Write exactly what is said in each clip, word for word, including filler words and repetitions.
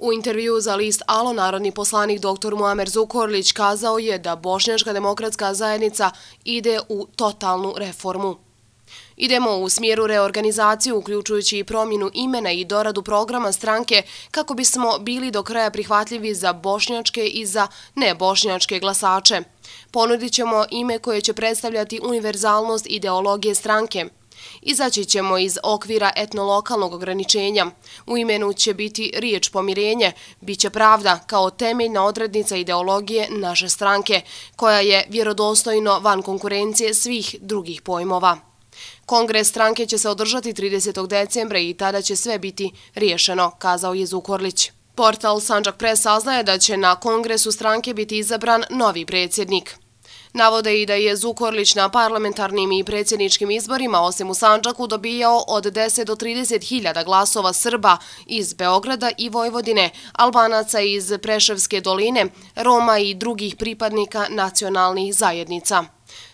U intervju za list Alo narodni poslanik doktor Muamer Zukorlić kazao je da Bošnjačka demokratska zajednica ide u totalnu reformu. Idemo u smjeru reorganizacije, uključujući i promjenu imena i doradu programa stranke kako bismo bili do kraja prihvatljivi za bošnjačke i za nebošnjačke glasače. Ponudit ćemo ime koje će predstavljati univerzalnost ideologije stranke. Izaći ćemo iz okvira etnolokalnog ograničenja. U imenu će biti riječ pomirenje, bit će pravda kao temeljna odrednica ideologije naše stranke, koja je vjerodostojno van konkurencije svih drugih pojmova. Kongres stranke će se održati tridesetog decembra i tada će sve biti riješeno, kazao je Zukorlić. Portal Sandžak Press saznaje da će na kongresu stranke biti izabran novi predsjednik. Navode i da je Zukorlić na parlamentarnim i predsjedničkim izborima, osim u Sandžaku, dobijao od deset do trideset hiljada glasova Srba iz Beograda i Vojvodine, Albanaca iz Preševske doline, Roma i drugih pripadnika nacionalnih zajednica.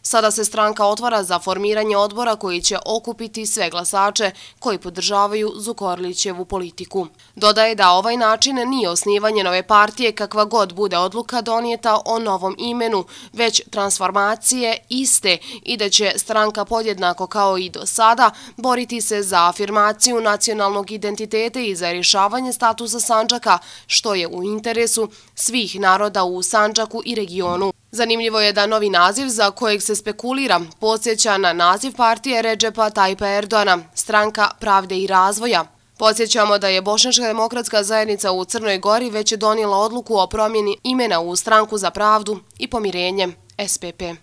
Sada se stranka otvara za formiranje odbora koji će okupiti sve glasače koji podržavaju Zukorlićevu politiku. Dodaje da ovaj način nije osnivanje nove partije kakva god bude odluka donijeta o novom imenu, već transformacije iste i da će stranka podjednako kao i do sada boriti se za afirmaciju nacionalnog identiteta i za rješavanje statusa Sandžaka, što je u interesu svih naroda u Sandžaku i regionu. Zanimljivo je da novi naziv za kojeg se spekulira podsjeća na naziv partije Redžepa Tajpa Erdoana, Stranka pravde i razvoja. Podsjećamo da je Bošnjačka demokratska zajednica u Crnoj Gori već donijela odluku o promjeni imena u Stranku za pravdu i pomirenje S P P.